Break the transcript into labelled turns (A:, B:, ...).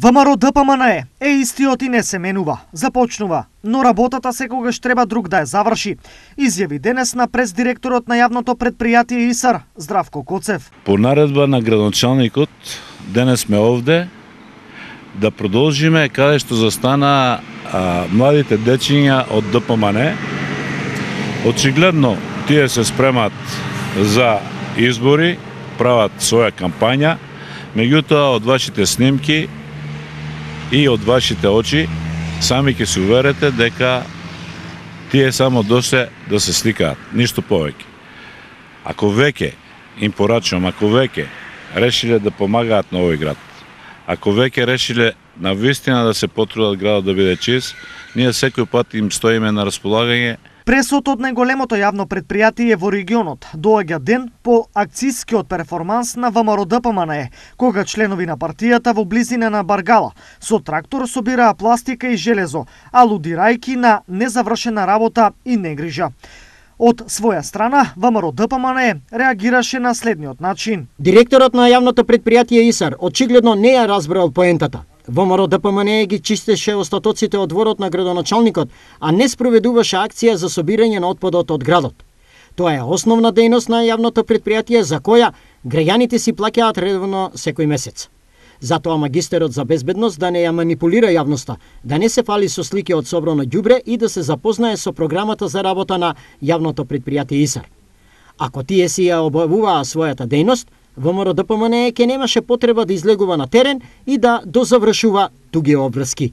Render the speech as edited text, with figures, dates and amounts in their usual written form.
A: ВМРО ДПМН е истиот и не се менува, започнува, но работата секогаш треба друг да ја заврши, изјави денес на пресдиректорот на јавното предпријатие ИСАР, Здравко Коцев.
B: По наредба на градоначалникот, денес сме овде да продолжиме каде што застана младите дечиња од ДПМН. Очигледно, тие се спремат за избори, прават своја кампања, меѓутоа од вашите снимки и од вашите очи сами ќе се уверите дека тие само доше да се сликаат, ништо повеќе. Ако веќе им порачувам, ако веќе решиле да помагаат на овој град, ако веќе решиле на вистина да се потрудат градот да биде чист, ние секој пат им стоиме на располагање.
A: Пресот од најголемото јавно предпријатие во регионот доаѓа ден по акцискиот перформанс на ВМРО ДПМН, кога членови на партијата во близина на Баргала со трактор собираа пластика и железо, алудирајќи на незавршена работа и негрижа. Од своја страна, ВМРО ДПМН реагираше на следниот начин.
C: Директорот на јавното предпријатие ИСАР очигледно не ја разбрал поентата. ВМРО ДПМН ги чистеше остатоците од дворот на градоначалникот, а не спроведуваше акција за собирање на отпадот од градот. Тоа е основна дејност на јавното предпријатие за која граѓаните си плаќаат редовно секој месец. Затоа магистерот за безбедност да не ја манипулира јавноста, да не се фали со слики од собрано ѓубре и да се запознае со програмата за работа на јавното предпријатие ИСАР. Ако тие си ја обавуваа својата дејност, ВМРО ДПМН ќе немаше потреба да излегува на терен и да дозавршува туги обврски.